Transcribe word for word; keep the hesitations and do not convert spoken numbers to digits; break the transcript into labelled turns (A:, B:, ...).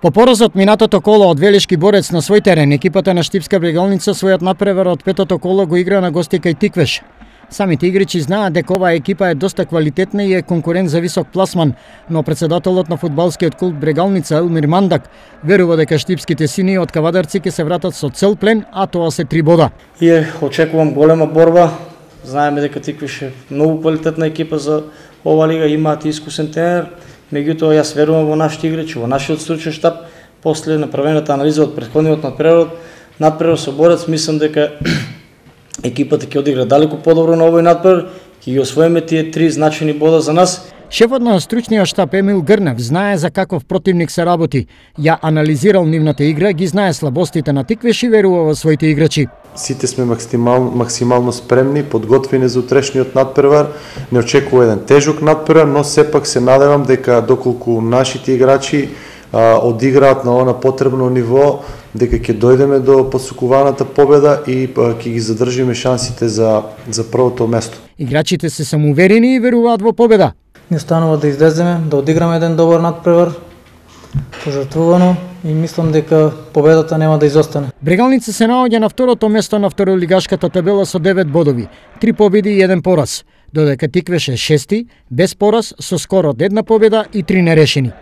A: По поразот минатото коло од Велешки Борец на свој терен, екипата на Штипска Брегалница својот надпревар од петото коло го игра на гости кај Тиквеш. Самите играчи знаат дека оваа екипа е доста квалитетна и е конкурент за висок пласман, но председателот на фудбалскиот клуб Брегалница Елмир Мандак верува дека штипските сини од Кавадарци ќе се вратат со цел плен, а тоа се три бода.
B: И очекувам голема борба. Знаеме дека Тиквеш е многу квалитетна екипа за ова лига, имаат искусен тренер. Меѓутоа, јас верувам во нашите играчи, во нашиот стручен штаб. После направената анализа од претходниот надпревар, надпревар со Борец, мислам дека екипата ќе одигра далеку подобро на овој надпревар, ќе ги освоиме тие три значајни бода за нас.
A: Шефот на стручниот штаб Емил Грнев знае за каков противник се работи. Ја анализирал нивната игра, ги знае слабостите на Тиквеш и верува во своите играчи.
C: Сите сме максимално, максимално спремни, подготвени за утрешниот надпревар. Не очекува еден тежок надпревар, но сепак се надевам дека доколку нашите играчи а, одиграат на она потребно ниво, дека ќе дојдеме до посукуваната победа и а, ќе ги задржиме шансите за, за првото место.
A: Играчите се самоуверени и веруваат во победа.
D: Ни останува да излеземе, да одиграме еден добар надпревар, пожртвувано, и мислам дека победата нема да изостане.
A: Брегалница се наоѓа на второто место на второлигашката табела со девет бодови, три победи и еден пораз, додека Тиквеш е шести, без пораз, со скор од една победа и три нерешени.